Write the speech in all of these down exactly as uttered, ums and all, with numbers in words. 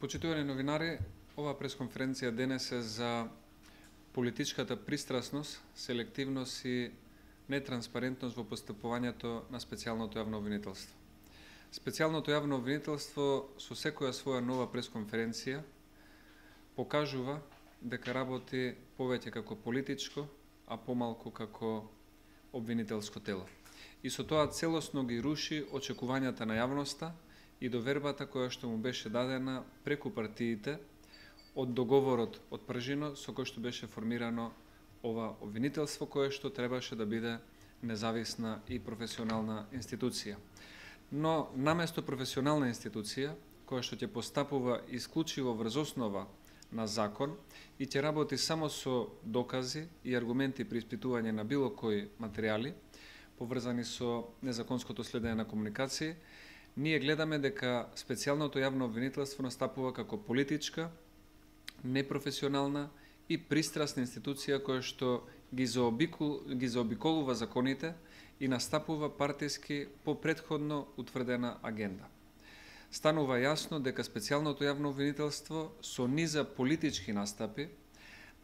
Почитувани новинари, оваа пресконференција денес е за политичката пристрасност, селективност и нетранспарентност во постапувањето на специјалното јавно обвинителство. Специјалното јавно обвинителство со секоја своја нова пресконференција покажува дека работи повеќе како политичко, а помалку како обвинителско тело. И со тоа целосно ги руши очекувањата на јавноста и довербата која што му беше дадена преку партиите од договорот од пржино со кој што беше формирано ова обвинителство, кое што требаше да биде независна и професионална институција. Но наместо професионална институција, која што ќе постапува исклучиво врз основа на закон и ќе работи само со докази и аргументи при испитување на било кои материјали, поврзани со незаконското следење на комуникации, ние гледаме дека специјалното јавно обвинителство настапува како политичка, непрофесионална и пристрасна институција која што ги заобикол, ги заобиколува законите и настапува партиски по претходно утврдена агенда. Станува јасно дека специјалното јавно обвинителство со низа политички настапи,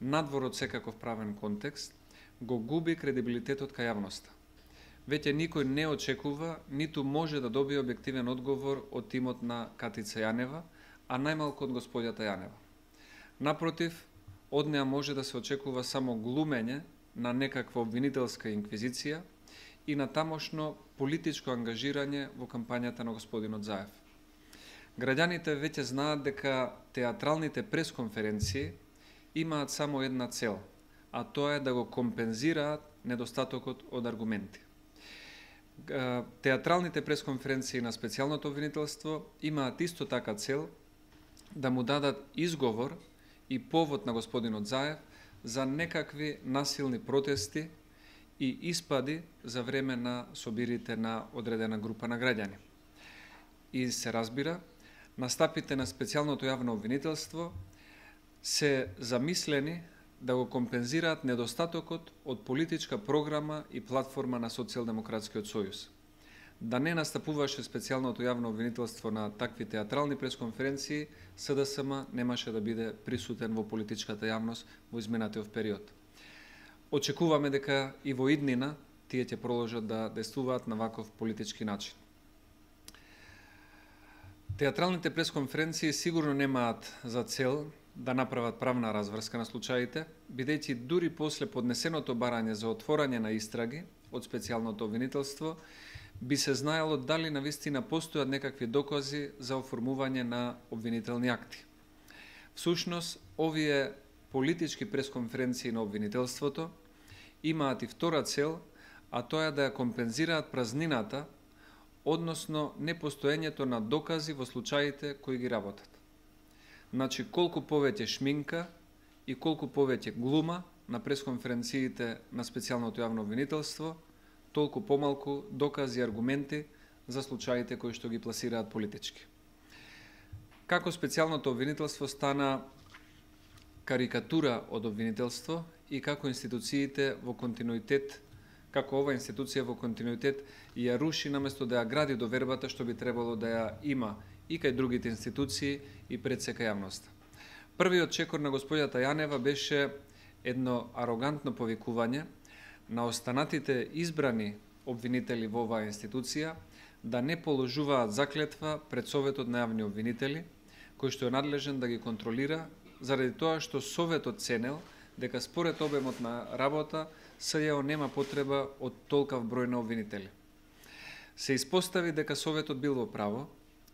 надвор од секаков правен контекст, го губи кредибилитетот кај јавноста. Веќе никој не очекува, ниту може да добие објективен одговор од тимот на Катица Јанева, а најмалку од господјата Јанева. Напротив, од неа може да се очекува само глумење на некаква обвинителска инквизиција и на тамошно политичко ангажирање во кампањата на господинот Заев. Граѓаните веќе знаат дека театралните пресконференции имаат само една цел, а тоа е да го компензираат недостатокот од аргументи. Театралните пресконференции на специјалното обвинителство имаат исто така цел да му дадат изговор и повод на господинот Заев за некакви насилни протести и испади за време на собирите на одредена група на граѓани. И се разбира, настапите на специјалното јавно обвинителство се замислени да го компензираат недостатокот од политичка програма и платформа на Социјалдемократскиот сојуз. Да не настапуваше специјалното јавно обвинителство на такви театрални пресконференции, СДСМ немаше да биде присутен во политичката јавност во изминатиот период. Очекуваме дека и во иднина тие ќе продолжат да действуваат на ваков политички начин. Театралните пресконференции сигурно немаат за цел да направат правна разврска на случаите, бидејќи дури после поднесеното барање за отворање на истраги од специјалното обвинителство, би се знаело дали навистина постојат некакви докази за оформување на обвинителни акти. Всушност, овие политички пресконференции на обвинителството имаат и втора цел, а тоа е да ја компензираат празнината, односно непостоењето на докази во случаите кои ги работат. Значи, колку повеќе шминка и колку повеќе глума на пресконференциите на специјалното јавно обвинителство, толку помалку докази и аргументи за случаите кои што ги пласираат политички. Како специјалното обвинителство стана карикатура од обвинителство и како институциите во континуитет, како ова институција во континуитет ја руши наместо да ја гради довербата што би требало да ја има и кај другите институции и пред сека јавноста. Првиот чекор на господјата Јанева беше едно арогантно повикување на останатите избрани обвинители во оваа институција да не положуваат заклетва пред Советот на јавни обвинители, кој што е надлежен да ги контролира, заради тоа што Советот ценел дека според обемот на работа СЈО нема потреба од толкав број на обвинители. Се испостави дека Советот бил во право,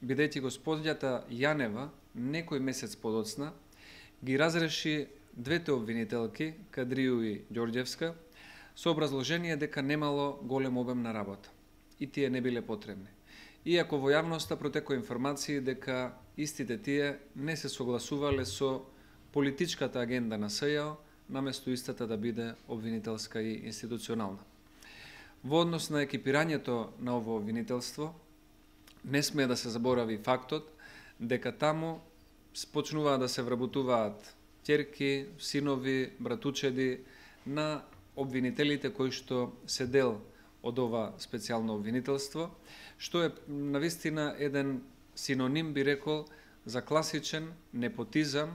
бидејќи господјата Јанева некој месец подоцна ги разреши двете обвинителки, Кадрију и Ѓорѓевска, со образложение дека немало голем обем на работа и тие не биле потребни. Иако во јавноста протекоа информации дека истите тие не се согласувале со политичката агенда на СЈО, наместо истата да биде обвинителска и институционална. Во однос на екипирањето на ово обвинителство, не смее да се заборави фактот дека таму почнуваат да се вработуваат ќерки, синови, братучеди на обвинителите кои што се дел од ова специјално обвинителство, што е навистина еден синоним, би рекол, за класичен непотизам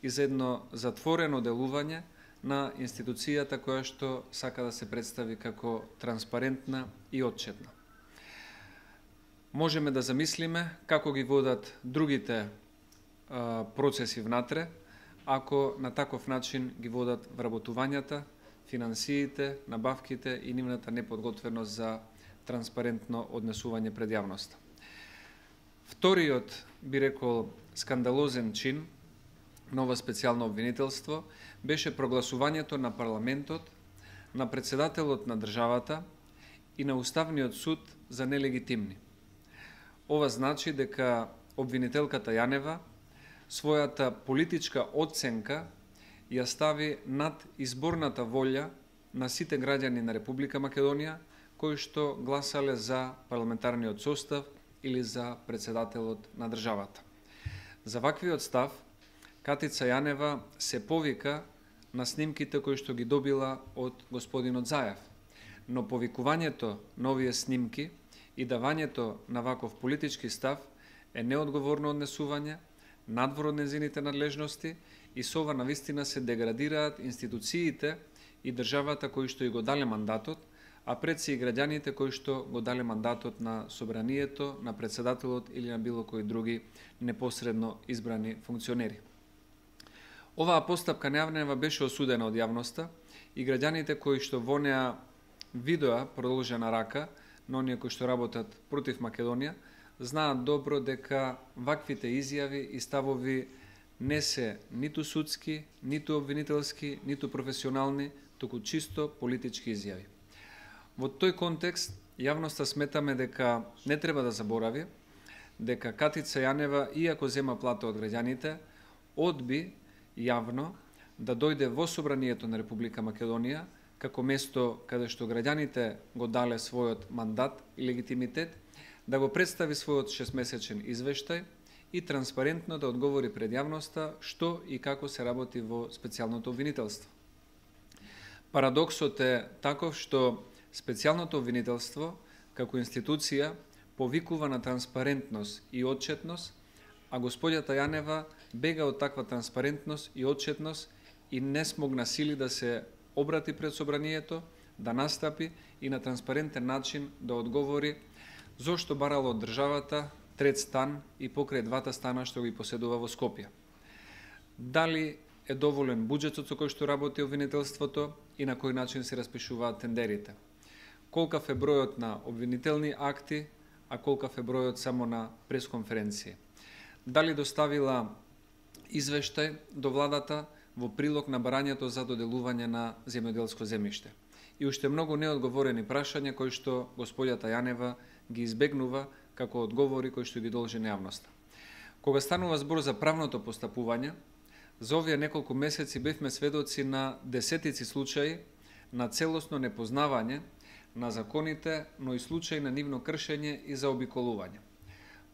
и за едно затворено делување на институцијата која што сака да се представи како транспарентна и отчетна. Можеме да замислиме како ги водат другите а, процеси внатре, ако на таков начин ги водат вработувањата, финансиите, набавките и нивната неподготвеност за транспарентно однесување пред јавноста. Вториот, би рекол, скандалозен чин на ова специјално обвинителство беше прогласувањето на парламентот, на председателот на државата и на Уставниот суд за нелегитимни. Ова значи дека обвинителката Јанева својата политичка оценка ја стави над изборната волја на сите граѓани на Република Македонија кои што гласале за парламентарниот состав или за председателот на државата. За ваквиот став, Катица Јанева се повика на снимките кои што ги добила од господинот Заев, но повикувањето на овие снимки и давањето на ваков политички став е неодговорно однесување, надвор од незините надлежности и со ова навистина се деградираат институциите и државата кои што и го дале мандатот, а пред се и граѓаните кои што го дале мандатот на собранието, на председателот или на било кои други непосредно избрани функционери. Оваа постапка на Јанева беше осудена од јавноста и граѓаните кои што во неа видоа продолжена рака на оние кои што работат против Македонија, знаат добро дека ваквите изјави и ставови не се ниту судски, ниту обвинителски, ниту професионални, туку чисто политички изјави. Во тој контекст, јавноста сметаме дека не треба да заборави дека Катица Јанева, иако зема плата од граѓаните, одби јавно да дојде во собранието на Република Македонија како место каде што граѓаните го дале својот мандат и легитимитет, да го представи својот шестмесечен извештај и транспарентно да одговори пред јавноста што и како се работи во специјалното обвинителство. Парадоксот е таков што специјалното обвинителство како институција повикува на транспарентност и отчетност, а господјата Јанева бега од таква транспарентност и отчетност и не смогна сили да се обрати пред собранието, да настапи и на транспарентен начин да одговори зошто барало од државата трет стан и покрај двата стана што ги поседува во Скопје. Дали е доволен буџетот со кој што работи обвинителството и на кој начин се распишуваат тендерите? Колкав е бројот на обвинителни акти, а колкав е бројот само на пресконференции? Дали доставила извештај до владата во прилог на барањето за доделување на земјоделско земјиште? И уште многу неодговорени прашања кои што господјата Јанева ги избегнува како одговори кои што ги должи на јавноста. Кога станува збор за правното постапување, за овие неколку месеци бевме сведоци на десетици случаи на целосно непознавање на законите, но и случаи на нивно кршење и заобиколување.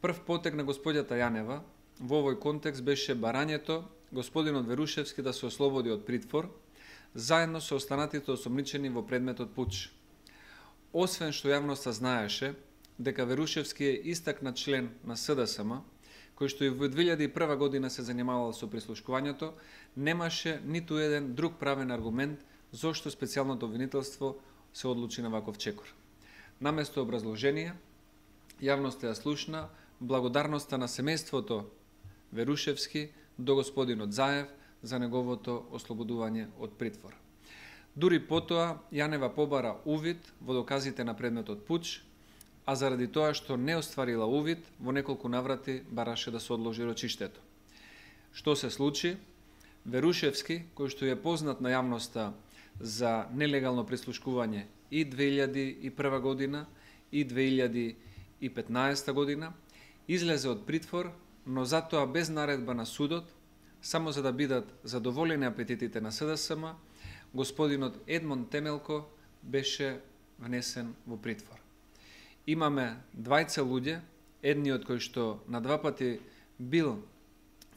Прв потег на господјата Јанева во овој контекст беше барањето господинот Верушевски да се ослободи од притвор, заедно со останатите осомничени во предметот пуч. Освен што јавноста знаеше дека Верушевски е истакнат член на С Д С М, кој што и во две илјади и прва година се занимавал со прислушкувањето, немаше ниту еден друг правен аргумент зошто специјалното обвинителство се одлучи на ваков чекор. Наместо образложение, јавноста ја слушна благодарноста на семејството Верушевски до господинот Заев за неговото ослободување од притвор. Дури потоа, Јанева побара увид во доказите на предметот пуч, а заради тоа што не остварила увид, во неколку наврати бараше да се одложи рочиштето. Што се случи? Верушевски, кој што е познат на јавноста за нелегално прислушкување и две илјади и прва година и две илјади и петнаесета година, излезе од притвор, но затоа без наредба на судот, само за да бидат задоволени апетитите на С Д С М, господинот Едмон Темелко беше внесен во притвор. Имаме двајца луѓе, едниот кој што на два пати бил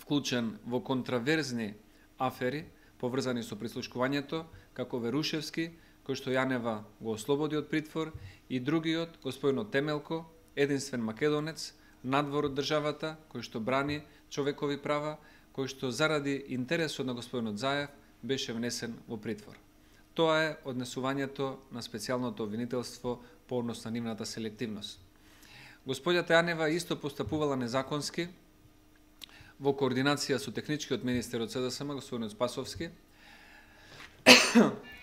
вклучен во контраверзни афери, поврзани со прислушкувањето, како Верушевски, кој што Јанева го ослободи од притвор, и другиот, господинот Темелко, единствен македонец, надвор од државата, кој што брани човекови права, кој што заради интересот на господинот Заев беше внесен во притвор. Тоа е однесувањето на специјалното обвинителство по однос на нивната селективност. Господјата Јанева исто постапувала незаконски во координација со техничкиот министер од СДСМ, господинот Спасовски,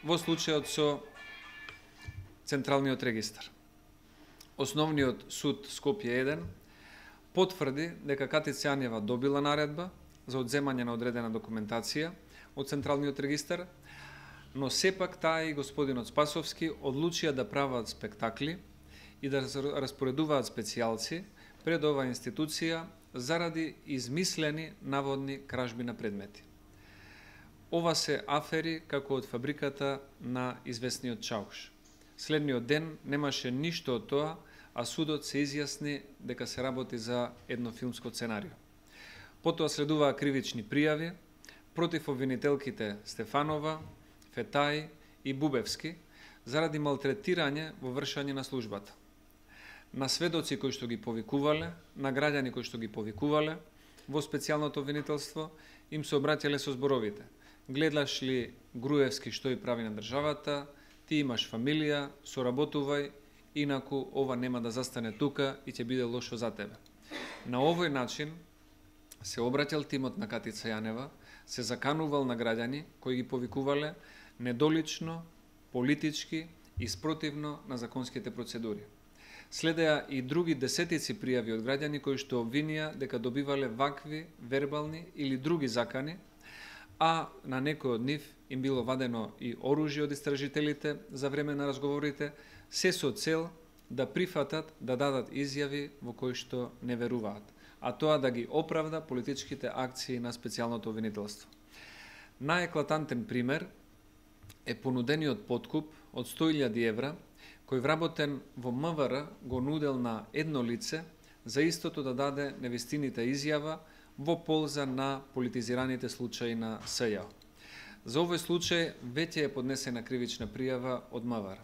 во случајот со Централниот регистар. Основниот суд Скопје еден потврди дека Катица Јанева добила наредба за одземање на одредена документација од Централниот регистар, но сепак таа и господинот Спасовски одлучија да прават спектакли и да распоредуваат специјалци пред оваа институција заради измислени наводни кражби на предмети. Ова се афери како од фабриката на известниот Чауш. Следниот ден немаше ништо од тоа, а судот се изјасни дека се работи за едно филмско сценарио. Потоа следуваа кривични пријави против обвинителките Стефанова, Фетај и Бубевски заради малтретирање во вршење на службата. На сведоци кои што ги повикувале, на граѓани кои што ги повикувале во специјалното обвинителство, им се обраќале со зборовите: гледаш ли Груевски што и прави на државата, ти имаш фамилија, соработувај, инаку ова нема да застане тука и ќе биде лошо за тебе. На овој начин се обраќал тимот на Катица Јанева, се заканувал на граѓани кои ги повикувале недолично, политички и спротивно на законските процедури. Следеа и други десетици пријави од граѓани кои што обвинија дека добивале вакви, вербални или други закани, а на некој од нив им било вадено и оружје од истражителите за време на разговорите, се со цел да прифатат да дадат изјави во кои што не веруваат, а тоа да ги оправда политичките акции на специјалното обвинителство. Наеклатантен пример е понудениот подкуп од сто илјади евра, кој вработен во МВР го нудел на едно лице за истото да даде невистините изјава во полза на политизираните случаи на СЈО. За овој случај веќе е поднесена кривична пријава од МВР.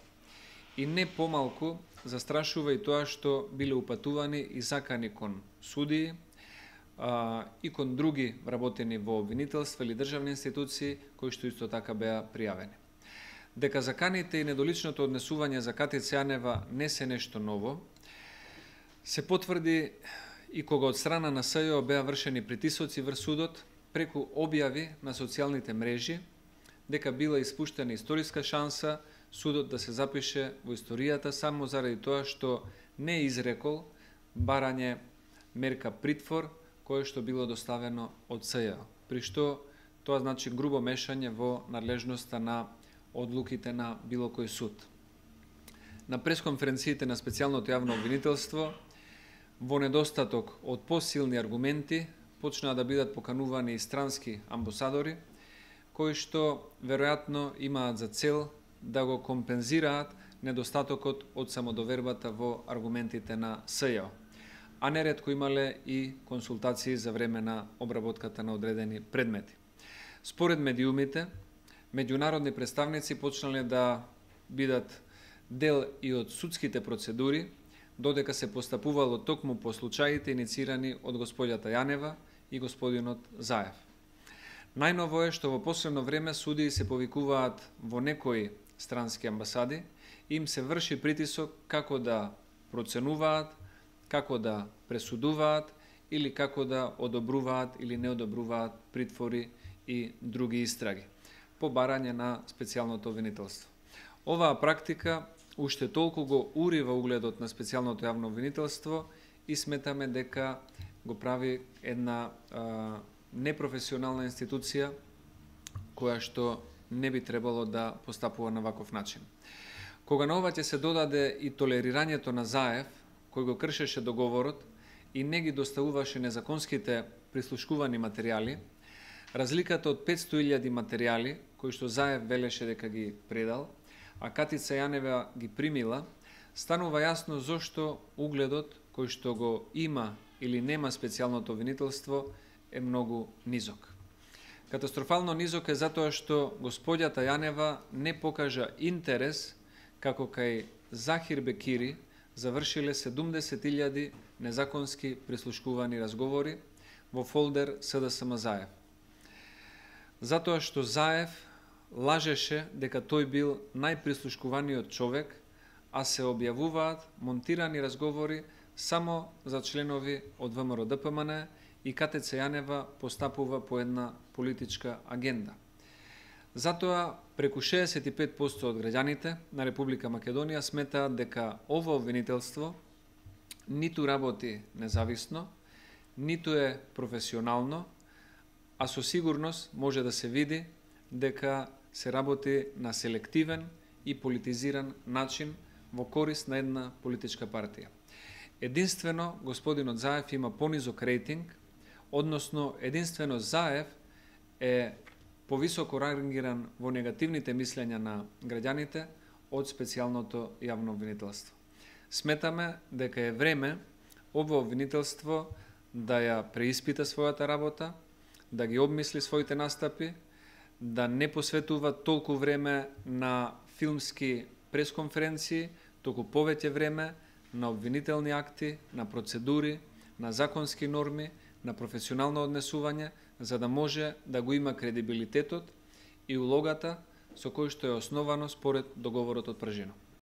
И не помалку застрашува и тоа што биле упатувани и закани кон судии а, и кон други работени во обвинителство или државни институции кои што исто така беа пријавени. Дека заканите и недоличното однесување за Катица Јанева не се нешто ново, се потврди и кога од страна на СЈО беа вршени притисоци врз судот преку објави на социјалните мрежи дека била испуштена историска шанса судот да се запише во историјата само заради тоа што не изрекол барање мерка притвор кое што било доставено од СЈО, при што тоа значи грубо мешање во надлежноста на одлуките на било кој суд. На пресконференциите на специјалното јавно обвинителство, во недостаток од посилни аргументи, почнаа да бидат поканувани и странски амбасадори, кои што веројатно имаат за цел да го компензираат недостатокот од самодовербата во аргументите на СЈО, а неретко имале и консултации за време на обработката на одредени предмети. Според медиумите, меѓународни представници почнале да бидат дел и од судските процедури, додека се постапувало токму по случаите иницирани од господјата Јанева и господинот Заев. Најново е што во последно време судии се повикуваат во некои странски амбасади и им се врши притисок како да проценуваат, како да пресудуваат или како да одобруваат или не одобруваат притвори и други истраги по барање на специјалното обвинителство. Оваа практика уште толку го урива угледот на специјалното јавно обвинителство и сметаме дека го прави една а, непрофесионална институција која што не би требало да постапува на ваков начин. Кога на ова ќе се додаде и толерирањето на Заев, кој го кршеше договорот и не ги доставуваше незаконските прислушкувани материјали, разликата од петсто илјади материјали кои што Заев велеше дека ги предал, а Катица Јанева ги примила, станува јасно зошто угледот кој што го има или нема специјалното обвинителство е многу низок. Катастрофално низок е затоа што господјата Јанева не покажа интерес како кај Захир Бекири завршиле седумдесет илјади незаконски прислушкувани разговори во фолдер СДСМ Заев. Затоа што Заев лажеше дека тој бил најприслушкуваниот човек, а се објавуваат монтирани разговори само за членови од ВМРО Д П М Н и К Т Ц Јанева постапува по една политичка агенда. Затоа преку шеесет и пет проценти од граѓаните на Република Македонија сметаат дека ова обвинителство ниту работи независно, ниту е професионално, а со сигурност може да се види дека се работи на селективен и политизиран начин во корист на една политичка партија. Единствено, господинот Заев има понизок рейтинг, односно единствено Заев е повисоко рангиран во негативните мислења на граѓаните од специјалното јавно обвинителство. Сметаме дека е време ова обвинителство да ја преиспита својата работа, да ги обмисли своите настапи, да не посветува толку време на филмски пресконференции, току повеќе време на обвинителни акти, на процедури, на законски норми, на професионално однесување, за да може да го има кредибилитетот и улогата со кој што е основано според договорот од Пражино.